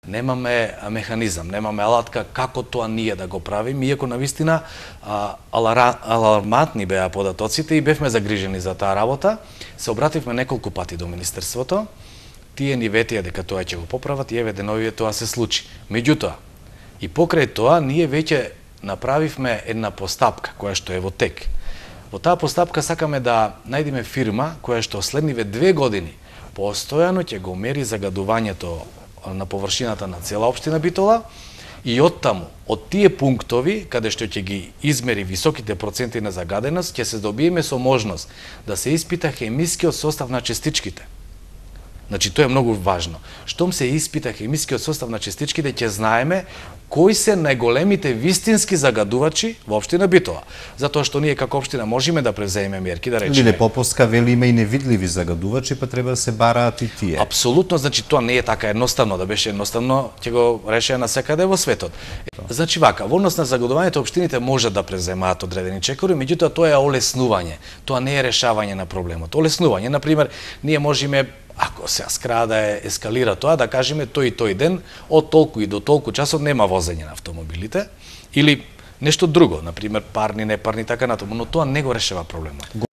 Немаме механизам, немаме алатка како тоа ние да го правиме, иако навистина алармантни беа податоците и бевме загрижени за таа работа. Се обративме неколку пати до Министерството, тие ни ветија дека тоа ќе го поправат и еве деновиве тоа се случи. Меѓутоа, и покрај тоа, ние веќе направивме една постапка која што е во тек. Во таа постапка сакаме да најдеме фирма која што следниве 2 години постојано ќе го мери загадувањето на површината на цела општина Битола и оттаму, од тие пунктови каде што ќе ги измери високите проценти на загаденост, ќе се добиеме со можност да се испита хемискиот состав на частичките. Значи, тоа е многу важно. Штом се испита хемискиот состав на частичките, ќе знаеме кои се најголемите вистински загадувачи во општина Битола. Затоа што ние како општина можеме да превземеме мерки, да речеме. Лиле Поповска вели има и невидливи загадувачи, па треба да се бараат и тие. Апсолутно, значи тоа не е така едноставно, да беше едноставно, ќе го решеа насекаде во светот. Значи вака, во однос на загадувањето општините можат да преземаат одредени чекори, меѓутоа тоа е олеснување. Тоа не е решавање на проблемот. Олеснување, на пример, ние можеме, ако се скрада ескалира тоа, да кажеме тој и тој ден од толку и до толку часот нема возење на автомобилите или нешто друго, на пример парни, непарни, така натаму, но тоа не го решава проблемот.